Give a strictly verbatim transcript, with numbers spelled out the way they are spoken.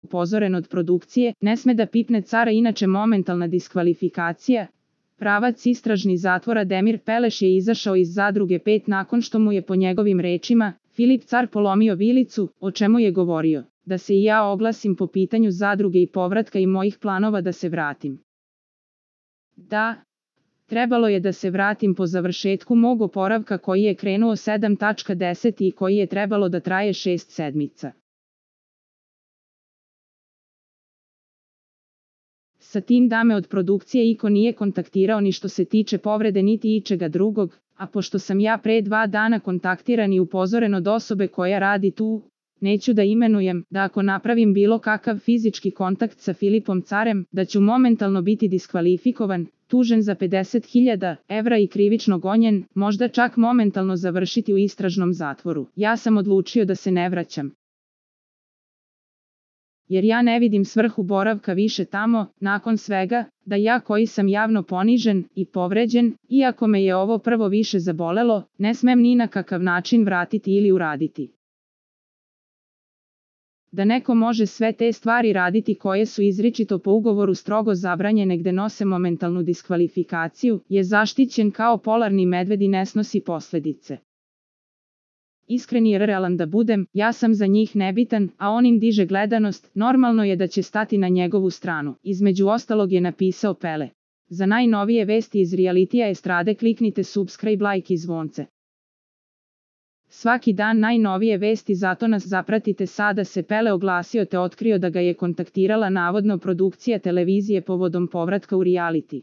upozoren od produkcije, ne sme da pipne cara inače momentalna diskvalifikacija. Pravac istražni zatvora Demir Peleš je izašao iz zadruge pet nakon što mu je po njegovim rečima Filip Car polomio vilicu, o čemu je govorio, da se i ja oglasim po pitanju zadruge i povratka i mojih planova da se vratim. Da, trebalo je da se vratim po završetku mog oporavka koji je krenuo sedam deset i koji je trebalo da traje šest sedmica. Sa tim da me od produkcije iko nije kontaktirao ni što se tiče povrede niti ičega drugog, a pošto sam ja pre dva dana kontaktiran i upozoren od osobe koja radi tu, neću da imenujem, da ako napravim bilo kakav fizički kontakt sa Filipom Carem, da ću momentalno biti diskvalifikovan, tužen za pedeset hiljada evra i krivično gonjen, možda čak momentalno završiti u istražnom zatvoru. Ja sam odlučio da se ne vraćam. Jer ja ne vidim svrhu boravka više tamo, nakon svega, da ja koji sam javno ponižen i povređen, iako me je ovo prvo više zabolelo, ne smem ni na kakav način vratiti ili uraditi. Da neko može sve te stvari raditi koje su izričito po ugovoru strogo zabranjene gde nose momentalnu diskvalifikaciju, je zaštićen kao polarni medved i ne snosi posledice. Iskren i realan da budem, ja sam za njih nebitan, a on im diže gledanost, normalno je da će stati na njegovu stranu. Između ostalog je napisao Pele. Za najnovije vesti iz realitija estrade kliknite subscribe, like i zvonce. Svaki dan najnovije vesti, zato nas zapratite. Sada se Pele oglasio te otkrio da ga je kontaktirala navodno produkcija televizije povodom povratka u reality.